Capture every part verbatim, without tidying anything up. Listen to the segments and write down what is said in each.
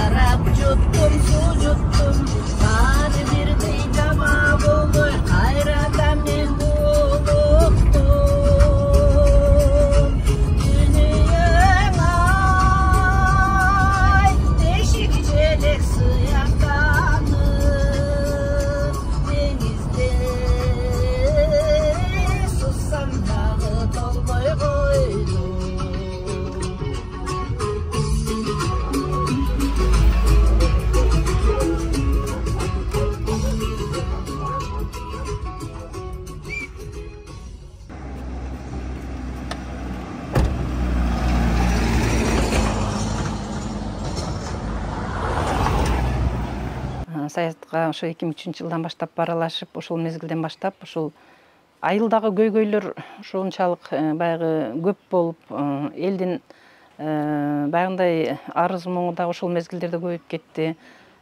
шарап жуттум, су жуттум, баары бирдей жама болбой кайрадан мен булуктум. Дүнүйөң ай, тешик желек сыяктанып, деңизде суссам дагы толбой койдум. Саятка ошо эки миң үчүнчү жылдан баштап аралашып, ошол мезгилден баштап ушул айылдагы көйгөйлөр ушунчалык баягы көп болуп, элдин баягындай арыз муңу дагы ошол мезгилдерде көбөйүп кетти.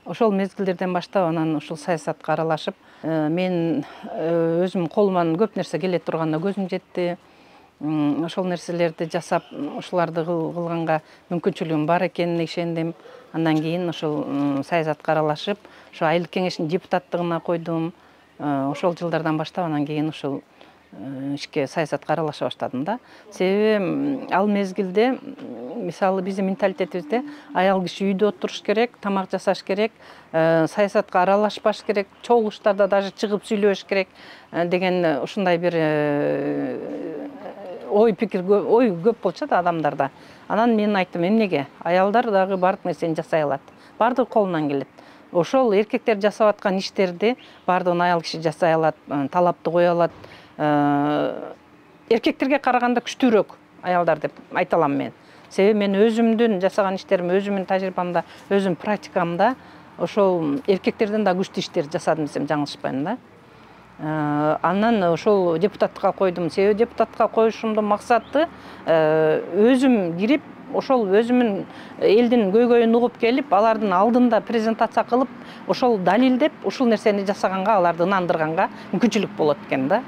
Ошол мезгилдерден баштап анан ушул саясатка аралашып, мен өзүм колуман көп нерсе келе турганына көзүм жетти. Ошол нерселерди жасап, ушуларды кылганга мүмкүнчүлүгүм бар экенине ишендим. Андан кийин ошол саясатка аралашып, ошо айылдык кеңештин депутаттыгына койдум. Ошол жылдардан баштап анан кийин ушул ишке саясатка аралаша баштадым да. Себеби ал мезгилде, мисалы биздин менталитетибизде аял киши үйдө отуруш керек, тамак жасаш керек, саясатка аралашпаш керек, чогулуштарда даже чыгып сүйлөбөш керек деген ушундай бир ой пикир, ой көп болчу да адамдарда. Анан мен айттым, эмнеге? Аялдар дагы бардык нерсени жасай алат. Бардыгы колунан келет. Ошол эркектер жасап аткан иштерди бардыгын аял киши жасай алат, талапты кое алат. Эркектерге караганда күчтүүрөөк аялдар деп айта алам мен. Себеби мен өзүмдүн жасаган иштерим, өзүмдүн тажрыйбамда, өзүмдүн практикамда ошол эркектерден да күчтүү иштер жасадым десем жаңылышпайм да. Анан ошол депутаттыкка койдум. Себеби депутаттыкка коюшумдун максаты өзүм кирип, ошол өзүмүн элдин көйгөйүн угуп келип, алардын алдында презентация кылып, ошол далилдеп, ушул нерсени жасаганга, аларды ынандырганга мүмкүнчүлүк болот экен да.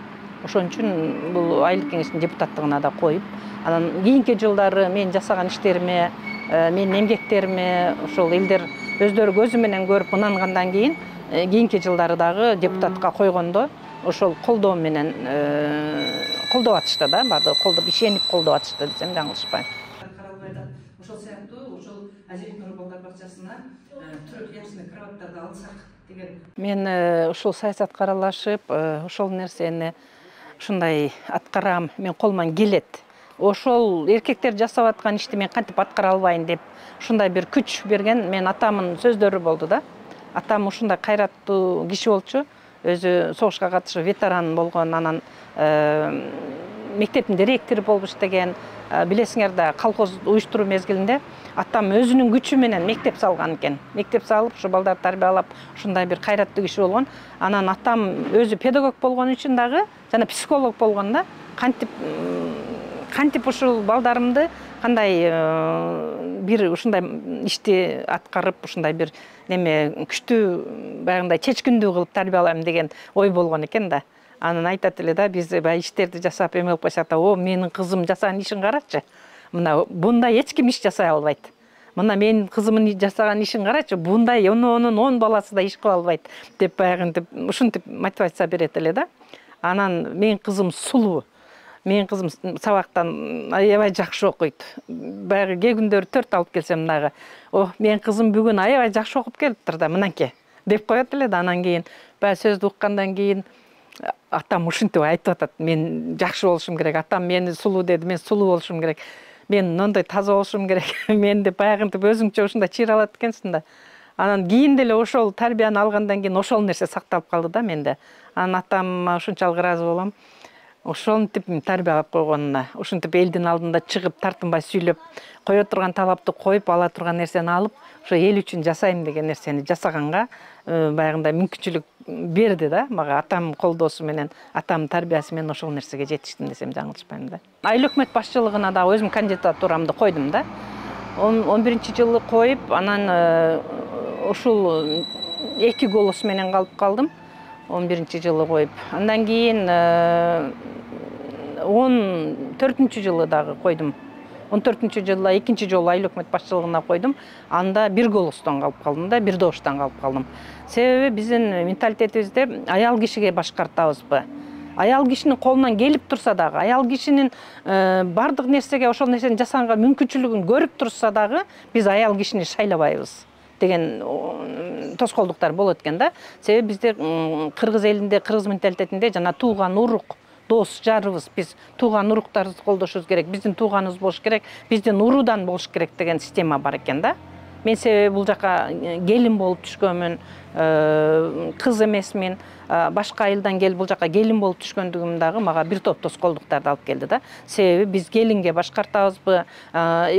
Ошон үчүн бул айылдык кеңештин депутаттыгына да коюп, анан кийинки жылдары мен жасаган иштериме, менин эмгектериме ошол элдер өздөрү көзү менен көрүп ынангандан кийин, кийинки жылдары дагы депутатка койгондо ошол колдоо менен колдоп атышты да, бардыгы колдоп, ишенип колдоп атышты десем жаңылышпайм. Каралбайда ошол сыяктуу ошол Азизбек Нур балдар бакчасына трехъярусный кроваттарды алсак деген. Мен ушул саясатка аралашып, ошол нерсени ушундай аткарам, мен колуман келет. Ошол эркектер жасап аткан ишти мен кантип аткара албайын деп ушундай бир күч берген мен атамдын сөздөрү болду да. Атам ушундай кайраттуу киши болчу. Өзү согушка катышып ветеран болгон, анан мектептин директору болуп иштеген. Билесиңер да, колхоз уюштуруу мезгилинде атам өзүнүн күчү менен мектеп салган экен. Мектеп салып, ушу балдарды тарбиялап, ушундай бир кайраттуу киши болгон. Анан атам өзү педагог болгон үчүн дагы, жана психолог болгон да, кантип кантип ушул балдарымды кандай бир ушундай ишти аткарып, ушундай бир неме күчтүү, баягындай чечкиндүү кылып тарбиялайм деген ой болгон экен да. Анан айтат эле да, биз баягы иштерди жасап эме кылып койсок да, о, менин кызым жасаган ишин карачы. Мына бундай эч ким иш жасай албайт. Мына менин кызымдын жасаган ишин карачы, бундай онунун он баласы да иш кыла албайт деп баягынтип ушинтип мотивация берет эле да. Анан менин кызым сулуу. Менин кызым сабактан аябай жакшы окуйт. Баягы кээ күндөрү төрт алып келсем дагы, о, менин кызым бүгүн аябай жакшы окуп келиптир да, мынанке деп коет эле да. Анан кийин баягы сөздү уккандан кийин атам ушинтип айтып атат, мен жакшы болушум керек, атам мени сулуу деди, мен сулуу болушум керек, мен мындай таза болушум керек, мен деп баягынтип өзүңчө ушундай чир алат экенсиң да. Анан кийин деле ошол тарбияны алгандан кийин ошол нерсе сакталып калды да менде. Анан атам ушунчалык ыраазы болом. Ошентип тарбиялап койгонуна, ушинтип элдин алдында чыгып, тартынбай сүйлөп, кое турган талапты коюп, ала турган нерсени алып, ошо эл үчүн жасайм деген нерсени жасаганга баягындай мүмкүнчүлүк берди да мага. Атам колдоосу менен, атам тарбиясы менен ошол нерсеге жетиштим десем жаңылышпайм да. Айыл өкмөт башчылыгына да өзүм кандидатурамды койдум да. он биринчи жылы коюп, анан ушул эки голос менен калып калдым. он биринчи жылы коюп. Андан кийин он төртүнчү жылы дагы койдум. он төртүнчү жылы экинчи жолу айыл өкмөт башчылыгына койдум. Анда бир голостон калып калдым да, бир добуштан калып калдым. Себеби биздин менталитетибизде аял кишиге башкартабызбы? Аял кишинин колунан келип турса дагы, аял кишинин бардык нерсеге ошол нерсени жасаганга мүмкүнчүлүгүн көрүп турса дагы, биз аял кишини шайлабайбыз деген тоскоолдуктар болот экен да. Себеби бизде кыргыз элинде, кыргыз менталитетинде жана тууган урук, дос жарыбыз, биз тууган уруктарыбызды колдошубуз керек, биздин тууганыбыз болуш керек, биздин уруудан болуш керек деген система бар экен да. Мен себеби бул жака келин болуп түшкөнмүн, кыз эмесмин, башка айылдан келип бул жака келин болуп түшкөндүгүм дагы мага бир топ тоскоолдуктарды алып келди да. Себеби биз келинге башкартабызбы,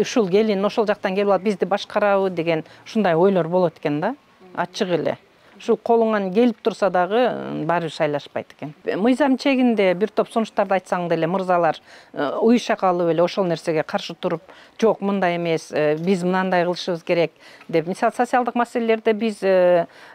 ушул келин ошол жактан келип алып бизди башкарабы деген ушундай ойлор болот экен да, ачык эле. Ушу колуңан келип турса дагы баары бир шайлашпайт экен. Мыйзам чегинде бир топ сунуштарды айтсаң деле мырзалар уюша калып эле ошол нерсеге каршы туруп, жок мындай эмес, биз мынандай кылышыбыз керек деп. Мисалы социалдык маселелерде биз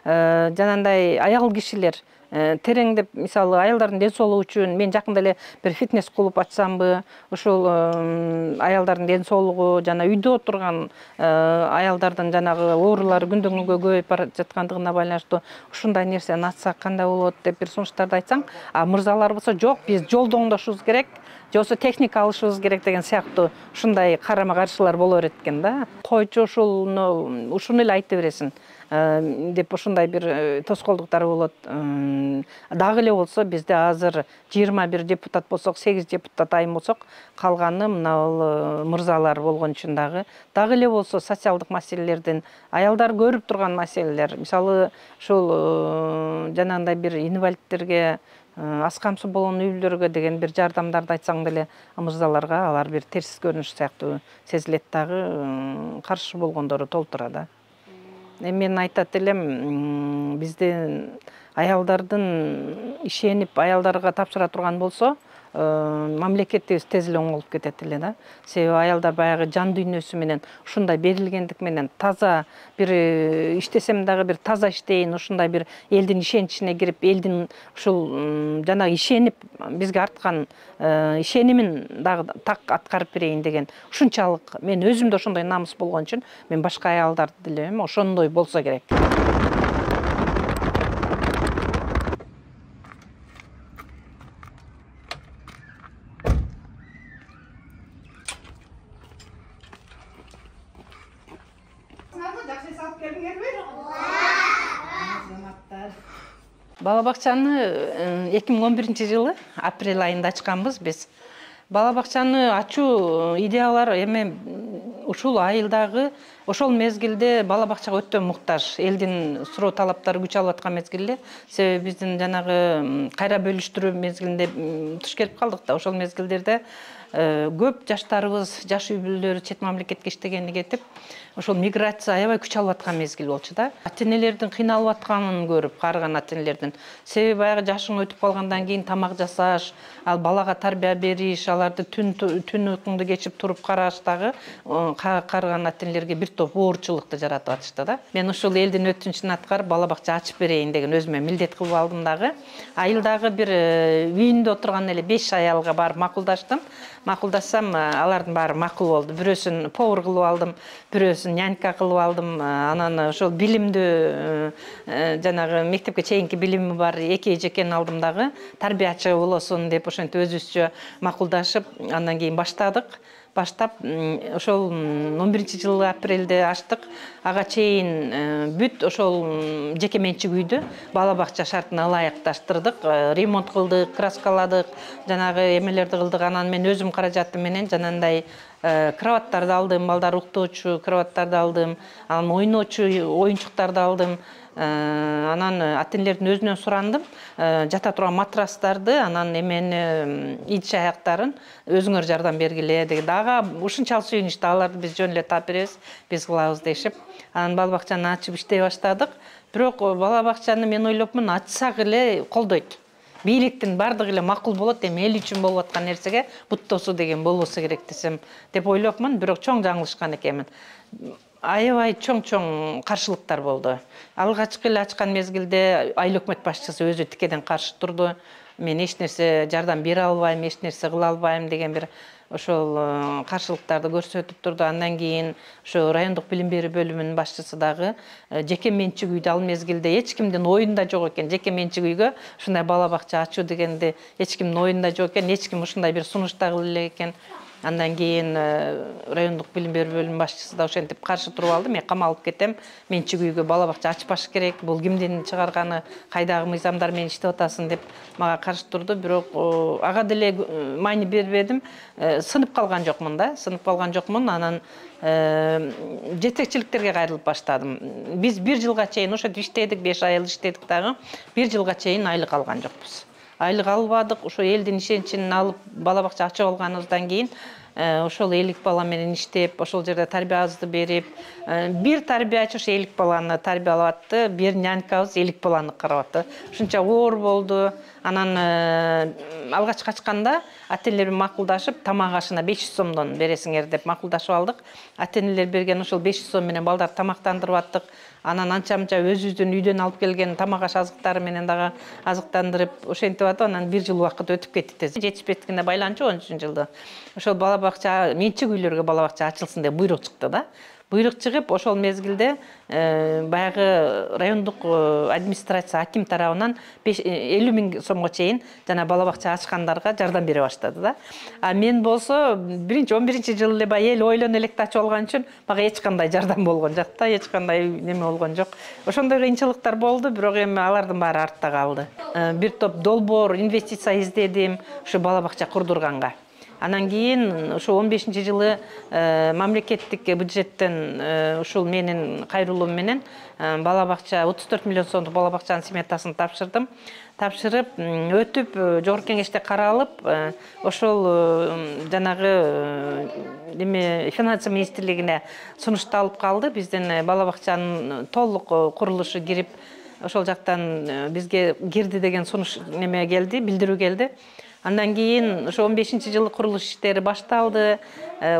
жанагындай аял кишилер тереңдеп, мисалы аялдардын ден соолугу үчүн мен жакында эле бир фитнес клуб ачсамбы, ошол аялдардын ден соолугу жана үйдө отурган аялдардын жанагы оорулары күндөн күнгө көбөйүп бара жаткандыгына байланыштуу ушундай нерсени ачсак кандай болот деп бир сунуштарды айтсаң, а мырзалар болсо жок, биз жолду оңдошубуз керек, же болбосо техника алышыбыз керек деген сыяктуу ушундай карама каршылар боло берет экен да. Койчу ушуну ушуну эле айта бересиң деп ушундай бир тоскоолдуктар болот. Дагы эле болсо бизде азыр жыйырма бир депутат болсок, сегиз депутат айым болсок, калганы мына мырзалар болгон үчүн дагы. Дагы эле болсо социалдык маселелерден аялдар көрүп турган маселелер, мисалы ушул жанагындай бир инвалидтерге, аз камсыз болгон үй бүлөлөргө деген бир жардамдарды айтсаң деле мырзаларга алар бир терс көрүнүш сыяктуу сезилет дагы, каршы болгондору толтура да. Мен айтат элем, бизде аялдардын ишенип аялдарга тапшыра турган болсо, мамлекетибиз тез эле оңолуп кетет эле да. Себеби аялдар баягы жан дүйнөсү менен ушундай берилгендик менен таза бир иштесем дагы бир таза иштейин, ушундай бир элдин ишеничине кирип, элдин ушул жанагы ишенип бизге арткан ишенимин дагы так аткарып берейин деген ушунчалык мен өзүмдө ошондой намыс болгон үчүн мен башка аялдарды деле ошондой болсо керек. Бала бакчаны эки миң он биринчи жылы апрель айында ачканбыз биз. Бала бакчаны ачуу идеялар эме ушул айылдагы ошол мезгилде бала бакчага өтө муктаж, элдин суроо талаптары күч алып аткан мезгилде, себеби биздин жанагы кайра бөлүштүрүү мезгилинде туш келип калдык да. Ошол мезгилдерде көп жаштарыбыз, жаш үй бүлөлөр чет мамлекетке иштегени кетип, ошол миграция аябай күч алып аткан мезгил болчу да. Ата-энелердин кыйналып атканын көрүп, каарыган ата-энелердин. Себеби баягы жашың өтүп калгандан кийин тамак жасаш, ал балага тарбия бериш, аларды түн түн уйкуңду кечип туруп караш дагы каарыган ата-энелерге бир топ оорчулукту жаратып атышты да. Мен ушул элдин өтүнүчүн аткарып бала бакча ачып берейин деген өзүмө милдет кылып алдым дагы. Айылдагы бир үйүндө отурган эле беш аялга барып макулдаштым. Макулдашсам, алардын баары макул болду. Бирөөсүн повар кылып алдым, бирөөсүн нянька кылып алдым. Анан ошол билимдүү жанагы мектепке чейинки билими бар эки эжекени алдым дагы, тарбиячы болосун деп ошентип өзүбүзчө макулдашып, андан кийин баштадык. Баштап, ошол он биринчи жылы апрелде ачтык. Ага чейин бүт ошол жеке менчик үйдү бала бакча шартына ылайыкташтырдык, ремонт кылдык, краскаладык, жанагы эмелерди кылдык. Анан мен өзүм каражатым менен жанандай кроваттарды алдым, балдар уктоочу кроваттарды алдым, анан ойночу оюнчуктарды алдым. Анан ата-энелердин өзүнөн сурандым, жата турган матрастарды, анан эмени идиш аяктарын өзүңөр жардам бергиле деген. Дагы ушунчалык сүйүнүштү, аларды биз жөн эле таап беребиз, биз кылабыз дешип. Анан бала бакчаны ачып иштей баштадык. Бирок бала бакчаны мен ойлопмун, ачсак эле колдойт. Бийликтин бардыгы эле макул болот, эми эл үчүн болуп аткан нерсеге бут тосуу деген болбосо керек десем деп ойлопмун, бирок чоң жаңылышкан экенмин. Аябай чоң-чоң каршылыктар болду. Алгачкы эле ачкан мезгилде айыл өкмөт башчысы өзү тикеден каршы турду. мен эч нерсе жардам бере албайм, эч нерсе кыла албайм деген бир ошол каршылыктарды көрсөтүп турду. Андан кийин ошо райондук билим берүү бөлүмүнүн башчысы дагы жеке менчик үйдү ал мезгилде эч кимдин оюнда жок экен. Жеке менчик үйгө ушундай бала бакча ачуу дегенди эч кимдин оюнда жок экен. Эч ким ушундай бир сунуш да кыла элек экен. Андан кийин райондук билим берүү бөлүмүнүн башчысы да ошентип каршы туруп алды. Мен камалып кетем. Менчик үйгө бала бакча ачпаш керек. Бул кимдин чыгарганы, кайдагы мыйзамдар менен иштеп атасың деп мага каршы турду. Бирок ага деле маани бербедим. Сынып калган жокмун да. Сынып калган жокмун. Анан жетекчиликтерге кайрылып баштадым. Биз бир жылга чейин ошентип иштедик, беш ай иштедик дагы. Бир жылга чейин айлык алган жокпуз. Айлык албадык. Ошо элдин ишеничин алып бала бакча ачып алганыбыздан кийин ошол элүү бала менен иштеп, ошол жерде тарбиябызды берип, бир тарбиячы ошо элүү баланы тарбиялап атты, бир нянькабыз элүү баланы карап атты. Ушунча оор болду. Анан алгач качканда ата-энелер менен макулдашып, тамак ашына беш жүз сомдон бересиңер деп макулдашып алдык. Ата-энелер берген ошол беш жүз сом менен балдарды тамактандырып аттык. Анан анча-мынча өзүбүздүн үйдөн алып келген тамак аш азыктары менен дагы азыктандырып ошентип атып, анан бир жыл убакыт өтүп кетти. Жетишпестигине байланчу он үчүнчү жылда ошол бала бакча, менчик үйлөргө бала бакча ачылсын деп буйрук чыкты да. Буйрук чыгып, ошол мезгилде баягы райондук администрация аким тарабынан элүү миң сомго чейин жана бала бакча ачкандарга жардам бере баштады да. А мен болсо биринчи он биринчи жылы эле баягы эл ойлоно электе ачып алган үчүн мага эч кандай жардам болгон жок да, эч кандай неме болгон жок. Ошондой кыйынчылыктар болду, бирок эми алардын баары артта калды. Бир топ долбоор инвестиция издедим ушу бала бакча курдурганга. Анан кийин ошо он бешинчи жылы мамлекеттик бюджеттен ушул менин кайрылуум менен бала бакча отуз төрт миллион сомдук бала бакчанын сметасын тапшырдым. Тапшырып, өтүп, жогорку кеңеште каралып, ошол жанагы неме финансы министрлигине сунушталып калды. Биздин бала бакчанын толук курулушу кирип, ошол жактан бизге кирди деген сунуш неме келди, билдирүү келди. Андан кийин ошо он бешинчи жылы курулуш иштери башталды.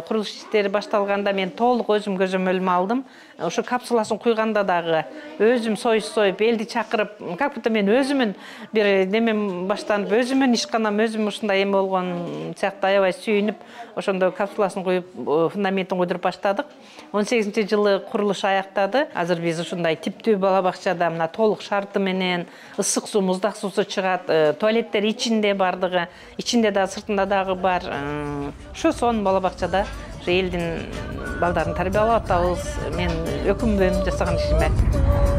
Курулуш иштери башталганда мен толук өзүм көзөмөлүмө алдым. Ошо капсуласын куйганда дагы өзүм союз союп, элди чакырып, как будто мен өзүмүн бир немем баштанып, өзүмүн ишканам, өзүм ушундай эме болгон сыяктуу аябай сүйүнүп, ошондо капсуласын куюп, фундаментин куйдуруп баштадык. он сегизинчи жылы курулуш аяктады. Азыр биз ушундай типтүү бала бакчада мына толук шарты менен ысык суу, муздак суусу чыгат, туалеттер ичинде бардыгы, ичинде да, сыртында дагы бар. Ушу сон бала бакчада элдин балдарын тарбиялап атабыз. Мен өкүнбөйм жасаган ишиме.